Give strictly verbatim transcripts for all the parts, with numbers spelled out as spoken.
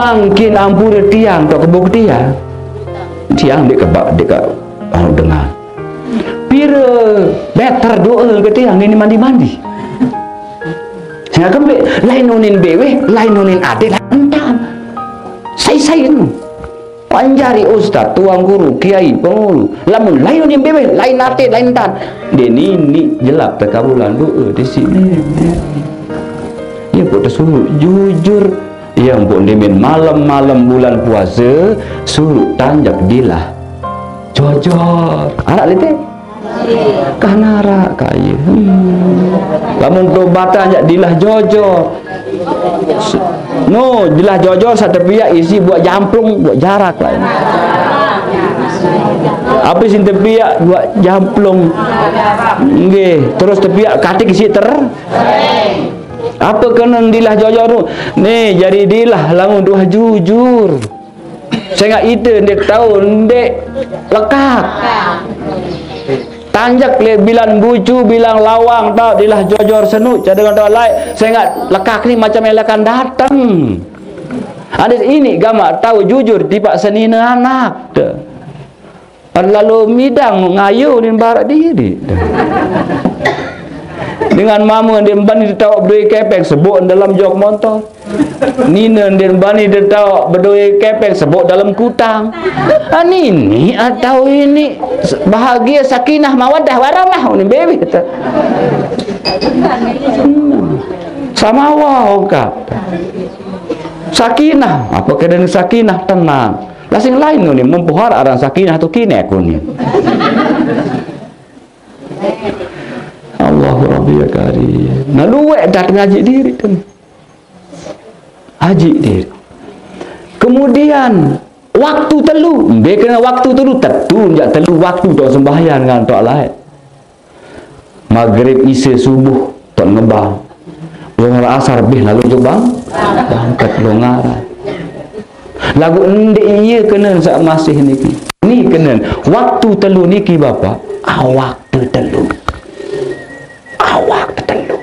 Mangkin ampure tiang tok kebuk tiang. Tiang dek kebak dek ka anu dengar. Pire meter doa ke tiang nini mandi-mandi. Sehingga kembe lain unin beweh, lain unin ade, lain entan. Sai-sai nu. Panjari ustaz, tuang guru, kiai, pengulu. Lamun lain unin beweh, lain ate, lain entan. Dia nini jelap tekabulan doa di sini. Ya, buat suruh jujur. Yang buat demen malam-malam bulan puasa, suruh tanjak dilah jojor. Arak lete? Kah narak kaya. Hmm. Lamun tobatan jak dilah jojor. No, dilah jojor satepiak isi buat jamplung, buat jarak lah. Apa sing tepiak buat jamplung? Nggih, terus tepiak katik isi ter. Apa kena dilah jojor tu? Ni, jadi dilah lamun tuah jujur. Sengak ite ndik tahu, ndik lekak. Tanjak le bilang bucu, bilang lawang tau dilah jojor senu, cadangan tau lai, sengak lekak ni macam elekan datang. Ada ini gamak tahu jujur, tipak senina anak. Te. Lalu midang ngayu ni barak diri. Dengan mama dia bani dia tahu berdua kepeng sebut dalam jok motor. Nina dia bani dia tahu berdua kepeng sebut dalam kutang. Ah, nini atau ini bahagia sakinah mawadah warahmah ni baby tu. Hmm. Sama wau ka. Sakinah, apa kena sakinah, tenang. Lah sing lain ni mempuhar aran sakinah tu kini aku ni. Allahu Rabbi ya Karim. Nah, luwek dah ngaji diri tu. Haji diri. Kemudian waktu telu, dia kena waktu telu, tetu jak telu waktu tu sembahyang dengan tak lain. Maghrib, Isya, Subuh, tak ngebang. Luar Asar bih lalu tu bang, bangkat longaran. Lagu ndik iya kena sak masih niki. Ni kena waktu telu niki bapa, awak tetelu. Awak tetelu.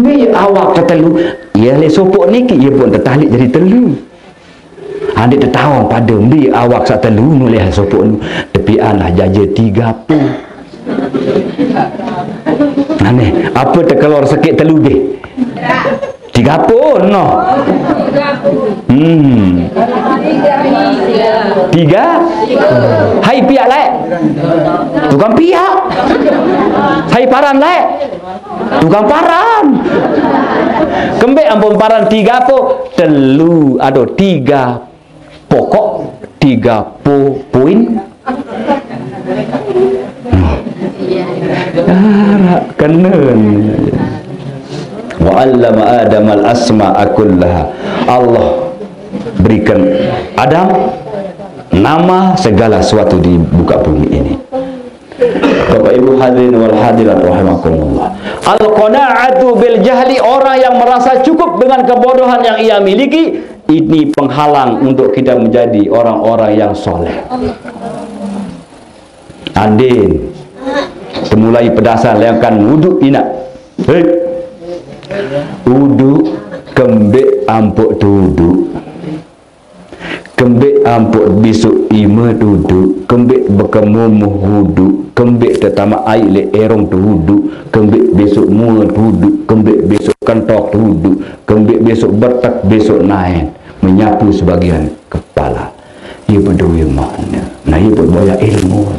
Ni awak tetelu, iya le sopok niki, iya pun tetalik jadi telu. Andik tetawang pada mbi awak sak telu nulih sopok nu, tepian lah jaja tiga puluh. Aneh, apa tekelor sekit telu deh? Tiga puluh no. Hmm. Tiga. Hai piak lek. Tukang piak. Hai paran lek. Tukang paran. Kembek ampun paran tiga po telu, aduh, tiga pokok, tiga po poin. Arak kenen. Wa 'allama Adam al-asma'a kullaha. Allah berikan Adam nama segala sesuatu di buka bumi ini. Bapak Ibu hadirin wal hadirat rahimakumullah. Al-qana'atu bil jahli, orang yang merasa cukup dengan kebodohan yang ia miliki, ini penghalang untuk kita menjadi orang-orang yang soleh. Andin, temulai pedasan leangkan wuduk inak. Hei. Wuduk kembek ampuk tu wuduk. Kembek ampuk besok ima duduk, kembek bekemumuh duduk, kembek tetamak air le erong tu duduk, kembek besok mua duduk, kembek besok kentok duduk, kembek besok betek besok naen menyapu sebagian kepala. Ia berdua makna. Nah, ia berboyak ilmu.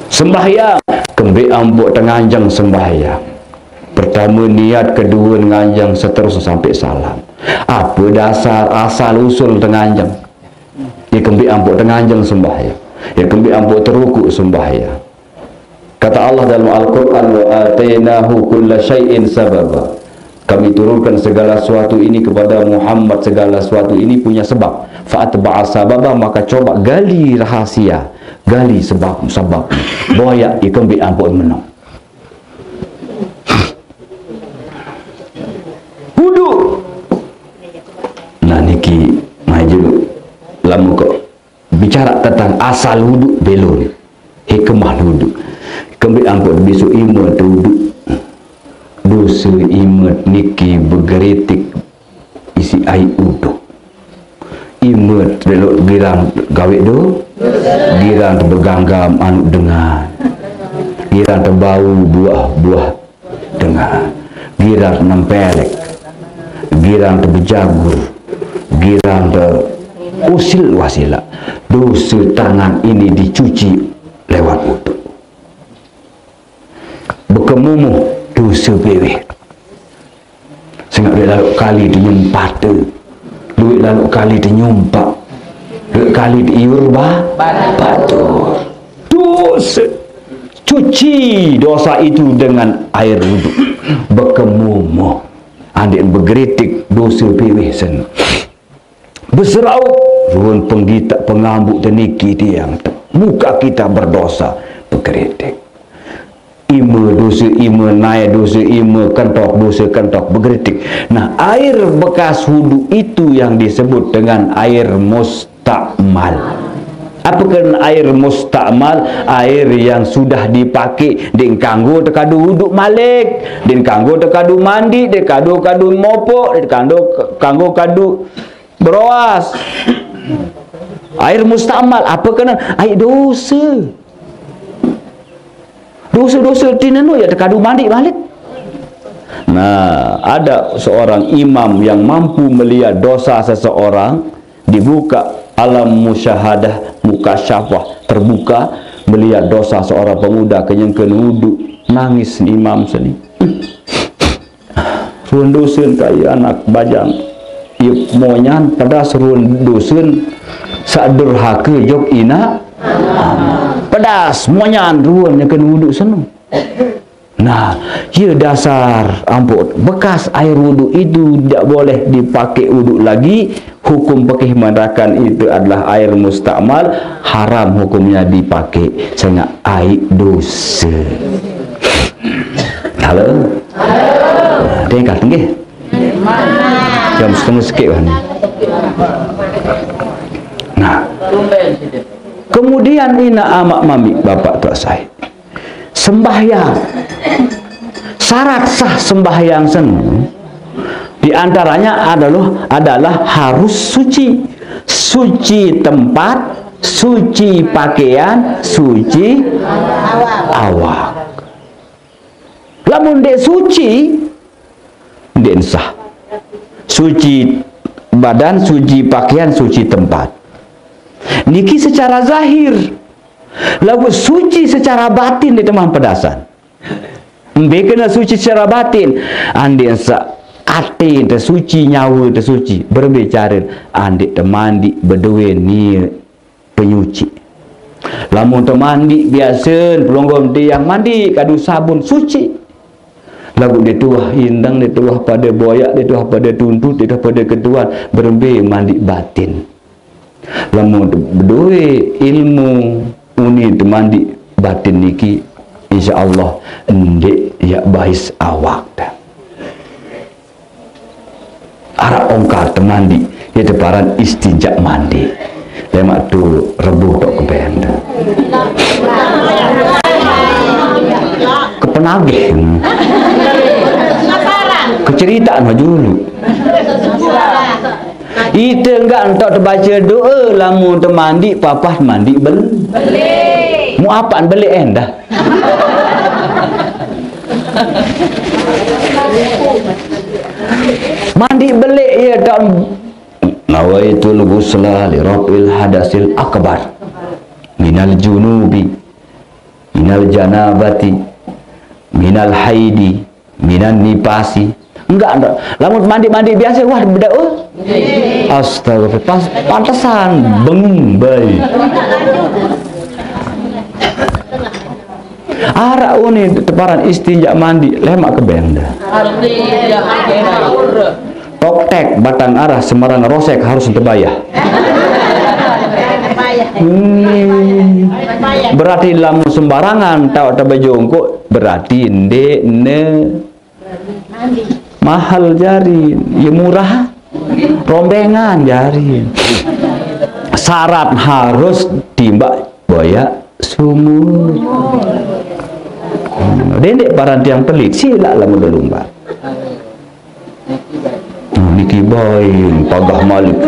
Sembahyang, kembek ampuk tenganjang sembahyang. Pertama niat, kedua nganjang, seterusnya sampai salam. Apa dasar asal usul tenganjang? Ya kembik ampuk tenganjang sembahyang. Ya kembik ampuk terukuk sembahyang. Kata Allah dalam Al-Quran, "Wa atainahu kulla syai'in sababa." Kami turunkan segala sesuatu ini kepada Muhammad, segala sesuatu ini punya sebab. Fa'atba'a sababa, maka coba gali rahasia, gali sebab, sebab. Boyak ya kembik ampuk menang. Wudu. Nah niki maju lama kok bicara tentang asal wudu belum. Hikmah wudu. Kembali ampun besok iman tu wudu. Dosa iman niki bergeritik. si ai uduk. Ime telok girang gawe do, girang tebeganggam anu dengan, girang tebau buah-buah dengan, girang nempelek, girang tebejagur, girang te usil wasila. Dosa tangan ini dicuci lewat uduk. Bekemumuh dosa beweh. Sengak duit lalu kali tenyumpata. Duit lalu kali tenyumpak. Duit kali diiur ba batur. Dosa. Cuci dosa itu dengan air wuduk. Bekemumuh. Andik begeritik dosa beweh sen. Beseraup ruan penggita pengambuk teniki tiang. Buka kita berdosa, bekeritik. Ime dosa ime, nai dosa ime, kentok dosa kentok, bekeritik. Nah, air bekas wuduk itu yang disebut dengan air mustakmal. Apa kena air mustakmal? Air yang sudah dipakai, dek kanggo tekadu wuduk malik, dek kanggo tekadu mandi, dek kadu kadu mopok, dek kanggo kanggo kadu beroas. Air mustakmal, apa kena? Air dosa. Dosa-dosa tineno ya tekadu mandi balik. Nah, ada seorang imam yang mampu melihat dosa seseorang, dibuka alam musyahadah, mukasyafah, terbuka, melihat dosa seorang pemuda kenyang kena wuduk, nangis imam seni. Ruan dosen kai anak bajang. Ia monyan pedas ruan dosen sak durhaka jok ina. Pedas monyan ruan yang kena wuduk seno. Nah, ia dasar ampun bekas air wuduk itu tidak boleh dipakai wuduk lagi. Hukum fikih mengatakan itu adalah air mustakmal, haram hukumnya dipakai. Sengak air dosa. Halo? Halo. Tinggal, nggih. Jam setengah sikit wah ni. Nah. Kemudian ina amak mami bapak tuak sai. Sembahyang. Syarat sah sembahyang senu di antaranya adalah adalah harus suci. Suci tempat, suci pakaian, suci awak. Lamun dek suci, dek sah. Suci badan, suci pakaian, suci tempat. Niki secara zahir. Lagu suci secara batin di teman pedasan. Mbe kena suci secara batin. Andin sa ati tesuci, nyawa tesuci. Berembe cara? Andik temandi bedoe niat penyuci. Lamun temandi biasa, pelonggom tiang mandi kadu sabun suci. Lagu dituah indang, dituah pada boyak, dituah pada tuntut, dituah pada ketuan, berembe mandi batin. Lamun bedoe ilmu uni temandi batin niki, insya Allah ndik yak bahis awak dah. Arak ongkar temandi, ya teparan istinja mandi. Lemak tu rebuh tok keben dah. Kepenagih. Keceritaan maju dulu. Ite enggak entok tebaca doa lamun temandi papah mandi bel. Mu apan belik endah. Mandi belik ya tak nawaitul ghusla li raf'il hadasil akbar minal junubi minal janabati minal haidi minan nipasi. Enggak, enggak. Lamun mandi-mandi biasa, wah, beda, oh. Astagfirullah. Pas, pantesan, bengong, baik. Arak uni teparan istinja mandi, lemak keben dah. Toktek, batang arah, sembarang rosek harus tebayah. Hmm. Berarti lamun sembarangan, tahu terbejongkok, berarti ndek ne mahal jari, ya murah, rombengan jari. Syarat harus timbak boyak sumur. Dendek paran tiang pelit, sila lamun lumba. Nah, ni Kibain pagah malik.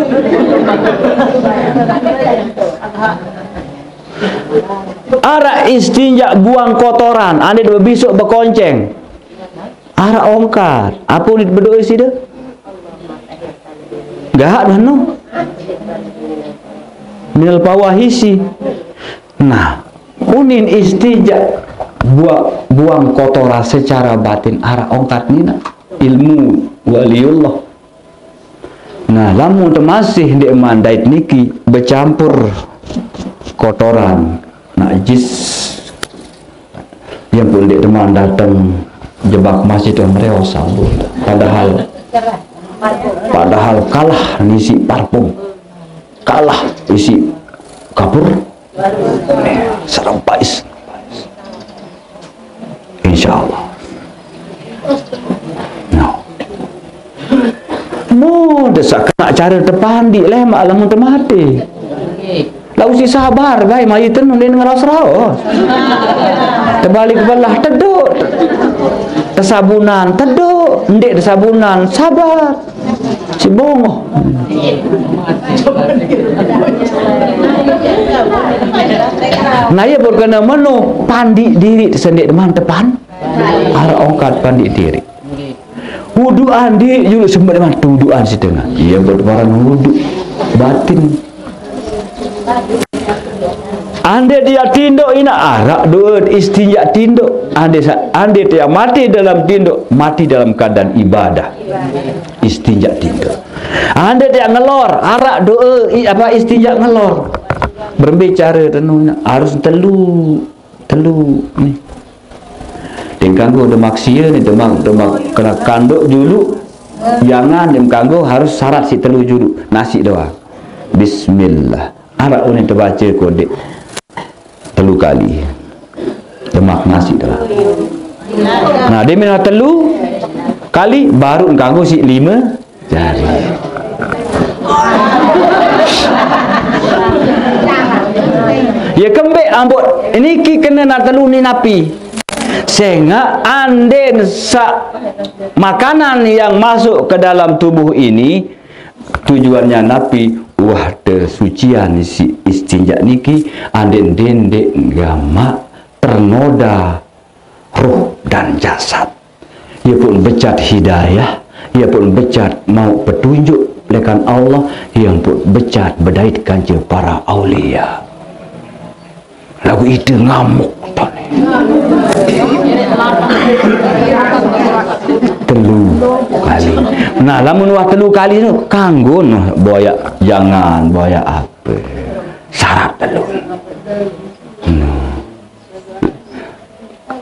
Araq istinja buang kotoran, ande bebisuk bekonceng. Araq ongkat, ape unin bedoe side? Gahak dah no. Minal fawahisi. Nah, unin istinja bua-, buang kotoran secara batin araq ongkat nina. Ilmu waliullah. Nah, lamun temasih ndeqman dait niki becampur kotoran, najis, yang pun ndeq teman dateng jebak masjid yang mereo sambut. Padahal, padahal kalah ngisi parfum, kalah isi kapur, serempais. Insyaallah. Nah. Mode saq kenaq care tepandiq lemaq lamun temate. Laguq siq sabar bae, mayit tenun ndeq ngeraos-raos. Tebalik belah tedoq. Tesabunan tedoq, ndeq tesabunan sabar. Siq bongoh. Nah, ie pun kene meno, pandiq diriq sendeqman tepan. Araq ongkat pandiq diriq. Wuduan ndeq juluq sembeq leman tu wuduan side. Ie pun barang wudu batin. Ande dia tindoq inaq araq doe istinja tindoq. Ande sa-, ande dia mati dalam tindoq, mati dalam keadaan ibadah. Istinja tindoq. Ande dia ngelor, araq doe i-, apa, istinja ngelor. Berembe care tenun, harus telu, telu ni. Ndeq kanggo demak sie ni, demak, demak kena kandoq juluq. Jangan ndeq kanggo, harus syarat siq telu juluq. Nasiq doang. Bismillah. Araq unin tebace kodeq telu kali. Demak nasiq doang. Nah, dia mina telu kali baruq kanggo siq lime jari. Ye kembeq ambot niki kene na telu ni napi? Sengaq anden saq makanan yang masuk ke dalam tubuh ini tujuannya napi? Wah, tesucian si istinja niki anden dendeq gamaq ternoda roh dan jasad. Ie pun becat hidayah, ie pun becat mauq petunjuk lekan Allah, ie pun becat bedait kance para aulia. Laguq ite ngamuk tone. Telu kali. Nah, lamun wah telu kali no, kanggo noh boyaq, jangan boyaq ape. Syarat telu. Hmm.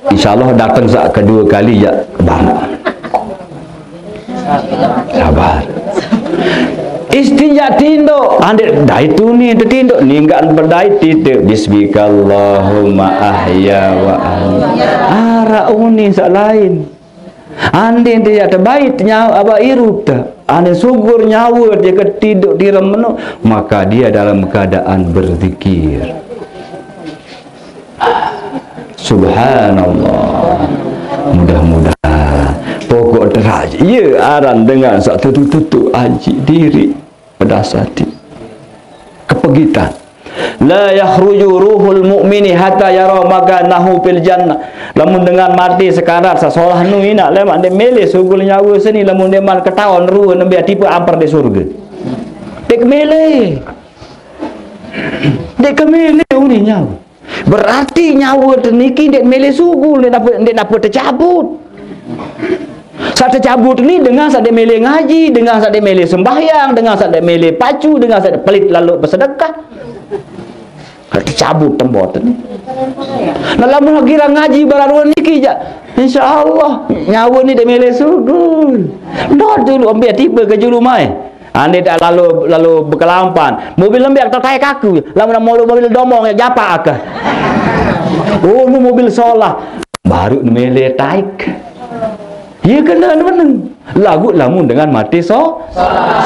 Insyaallah dateng saq kedue kali ya bangga. Sabar. Istinja tindoq, andeq dait tuni tetindoq, ninggal bedait tite, bismikallahumma ahya wa ahya. Araq unin saq lain. Andin te yaq tebait nyawe, apa, irup te. Andin sugul nyawe te ketindoq tirem meno, maka dia dalam keadaan berzikir. Subhanallah. Mudah-mudahan. Pokok terakhir. Ye aran dengan saq tetu-tetu aji diri. Pedas ati. Kepegitan. La yakhruju ruhul mu'mini hatta yara makanahu fil jannah. Lamun dengan mate sekarat, saq solah nu inaq lemaq ndeq mele sugul nyawe seni, lamun ndeqman ketaon rue nembe tipe amper leq surge. Ndeq mele. Ndeq kemele uni nyawe. Berarti nyawe te niki ndeq mele sugul, ndeq nape, ndeq nape tecabut. Saq tecabut ni dengan saq ndeq mele ngaji, dengan saq ndeq mele sembahyang, dengan saq ndeq mele pacu, dengan saq ndeq pelit lalo besedekah. Saq tecabut tembot ni. Nah, lamun kira ngaji bararuen niki jaq, insyaallah nyawe ni ndeq mele sugul. Ndot julu, mbe tipe ke julu mai. Ande tak lalu, lalu bekelampan. Mobil lembek tak taek aku. Lamun mulu mobil domong ya japak aku. Oh, nu mobil solah. Baru mele taek. Iya kena meneng. Lagu lamun dengan mate so-,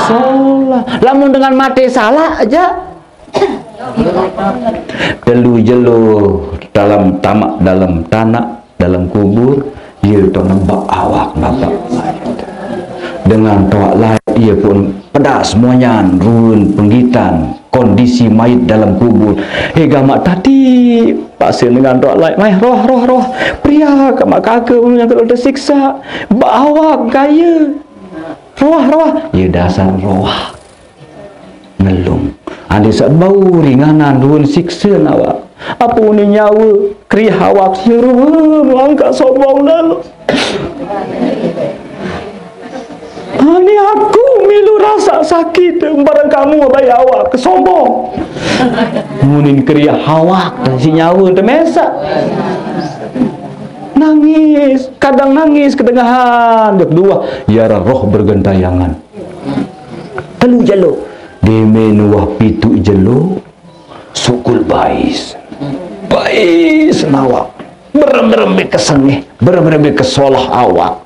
solah. Lamun dengan mate salah aja. Telu jelo dalam tamak, dalam tanaq, dalam kubur, ye to nebak awak nebak mayit. Dengan toaq laeq, ie pun pedas monyan ruen penggitan kondisi mayit dalem kubur. He gamaq tadi, pasen dengan toaq laeq, "Maeh, roah, roah, roah. Periak amaq kake nyang telu tesiksa. Baq awak kaye. Roah, roah." Ie dasar roah. Ngelung. Ande saq bau ringanan ruen sikse awak. Ape uni nyawe, kriah awak, sirun langkaq sombong lalo. Ani aku milu rasa sakit, bareng kamu bae awak kesombong. Munin kriah awak, si nyawe temesaq. Nangis, kadang nangis kedengahan, kedua, yara roh bergentayangan. Telu jelo. Demen wah pitu jelo, sukul bais. Bais nawak. Berem-berem be kesengeh, berem-berem be kesolah awak.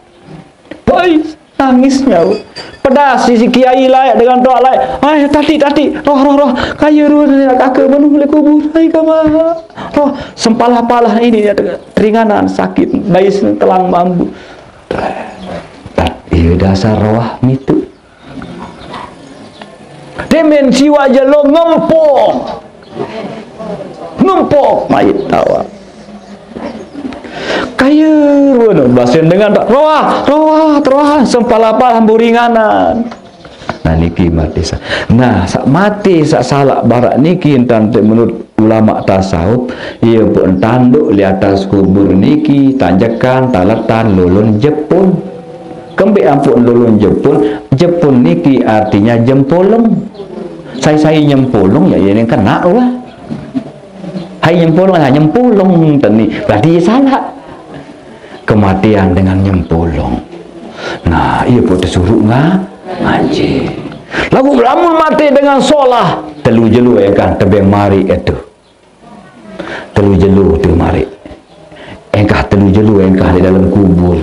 Bais, nangis nyawe. Pedas sisi kiai laeq dengan toaq laeq. "Ai, tati, tati, roh, roh, roh. Kaye ruen kake menu leq kubur. Ai, kama. Roh, sempalah-palah ini ya, keringanan sakit. Bais telang mambu." Ie dasar roah mitu. Demen siwaq jelo ngempong. Ngempong mayit awak. Kaye ruen basen dengan toaq, "Roah, roah, roah, sempal-apal hambu ringanan." Nah, niki mate sa-, nah, saq mate saq salaq baraq niki entan te menurut ulama tasawuf, ie pun tanduk leq atas kubur niki, tanjekan, taletan, lolon jepun. Kembeq ampoqn lolon jepun? Jepun niki artinya jempolong. Sai-sai nyempolong, ya, ye ne kenaq wah. Hai nyempolong, hai nyempolong teni. Berarti ye salaq. Kematian dengan nyempolong. Nah, ie pun tesuruq nga-, ngaji. Laguq lamun mate dengan solah, telu jelo engkah tebeng mariq etu. Telu jelo tu mariq. Engkah telu jelo engkah leq dalem kubur.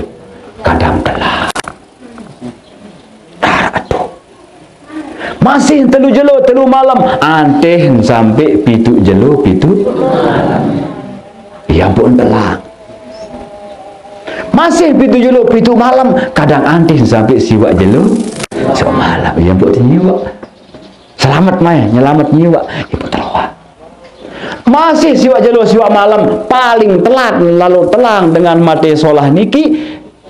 Kadang telah. Daraq tu. Masih telu jelo, telu malem, antih sampe pitu jelo, pitu. Ie ampoqn telah. Masih pitu jelo, pitu malem, kadang antih sampe siwaq jelo, siwaq malem. Ie ampoqn tenyiwaq. Selamet maeh, nyelamet nyiwaq. Ie ampoqn teloaq. Masih siwaq jelo, siwaq malem, paling telat lalo telang dengan mate solah niki,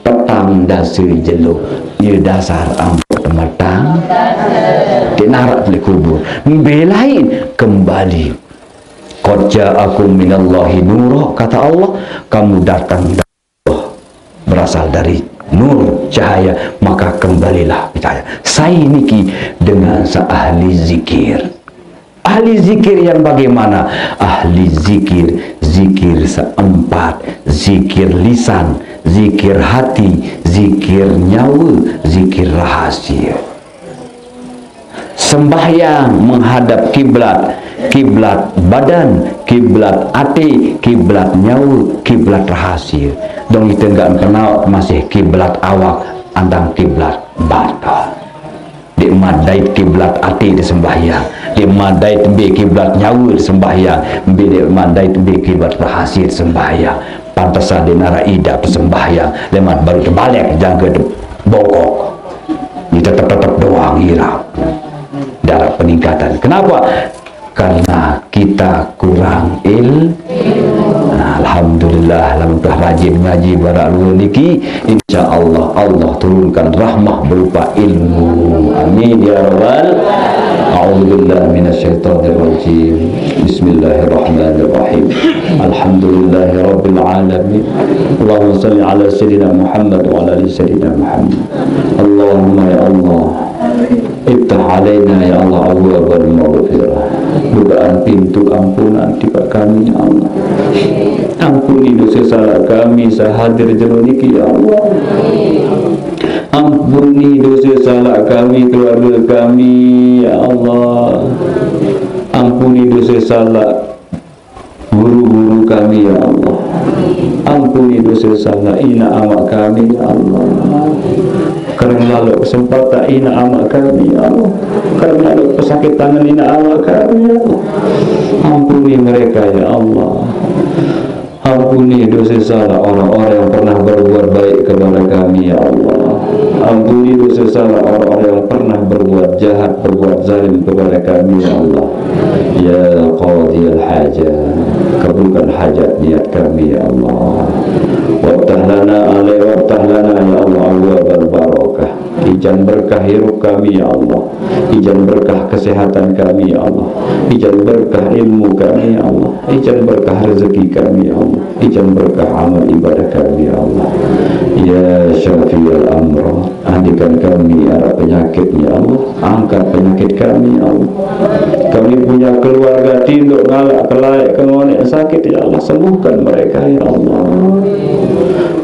petang dase jelo. Ie dasar ampoq temetang. Ndeq naraq leq kubur. Mbe lain kembali. "Qad ja'akum minallahi nura," kata Allah, "kamu datang dari Allah, berasal dari nur, cahaya, maka kembalilah ke cahaya." Sai niki? Dengan saq ahli zikir. Ahli zikir yang bagaimana? Ahli zikir, zikir seempat, zikir lisan, zikir hati, zikir nyawe, zikir rahasie. Sembahyang menghadap kiblat, kiblat badan, kiblat ate, kiblat nyawe, kiblat rahasie. Dong ite ndeq kenaq masih kiblat awak, andang kiblat badan. Ndeqman dait kiblat ate tesembahyang. Ndeqman dait mbe kiblat nyawe tesembahyang. Mbe ndeqman dait mbe kiblat rahasie tesembahyang. Pantesan ndeq naraq idap tesembahyang. Leman baruq tebaleq jangke te-, bongkok. Ni tetep-tetep doang irap. Ndaraq peningkatan. Kenapa? Karena kita kurang il-, nah, alhamdulillah, lamun udah rajin ngaji baraq lue niki, insya Allah, Allah turunkan rahmah berupa ilmu. Amin ya rabbal. A'udzubillahi minasyaitonirrajim. Bismillahirrahmanirrahim. Alhamdulillahirabbil alamin. Allahumma salli ala sayyidina Muhammad wa ala ali sayyidina Muhammad. Allahumma ya Allah, iftah alaina ya Allah abwabal maghfirah. Bukaan pintu ampunan tipaq kami ya Allah. Ampuni dose salaq kami saq hadir jelo niki ya Allah. Ampuni dose salaq kami, keluarge kami ya Allah. Ampuni dose salaq guru-guru kami, ya Allah. Ampuni dose salaq inaq amaq kami, ya Allah. Kereng laloq kesempatan inaq amaq kami, ya Allah. Kereng laloq pesakitan inaq amaq kami, ya Allah. Ampuni mereka, ya Allah. Ampuni dose salaq orang-orang yang pernah berbuat baik kepada kami, ya Allah. Ampuni dosa salah orang-orang yang pernah berbuat jahat, berbuat zalim kepada kami, ya Allah. Ya Qadiyal Hajat, kabulkan hajat niat kami, ya Allah. Waftah lana alai, waftah lana, ya Allah, abwabal barakah. Ijan berkah hirup kami, ya Allah. Ijan berkah kesehatan kami, ya Allah. Ijan berkah ilmu kami, ya Allah. Ijan berkah rezeki kami, ya Allah. Ijan berkah amal ibadah kami, ya Allah. Ya Syafi'al Amrad, andikan kami ada penyakit, ya Allah. Angkat penyakit kami, ya Allah. Kami punya keluarga tinduk ngalak kelaik ke ngonek sakit, ya Allah. Sembuhkan mereka, ya Allah.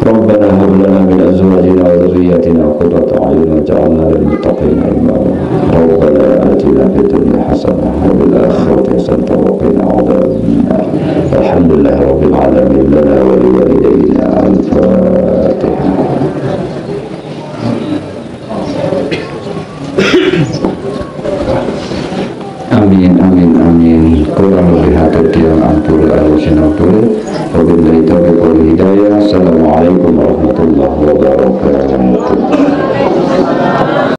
Rabbana hab lana min azwajina wa dzurriyyatina qurrata a'yun waj'alna lil muttaqina imama. Rabbana atina fid dunya hasanah wa fil akhirati hasanah wa qina adzabannar. Alhamdulillah rabbil alamin, lana wa liwalidayna. Al-Fatihah. Amin, amin, amin. Kurang lebih hatur tiang ampura, alus sinampura. Wabillahi taufiq wal hidayah. Assalamualaikum warahmatullahi wabarakatuh.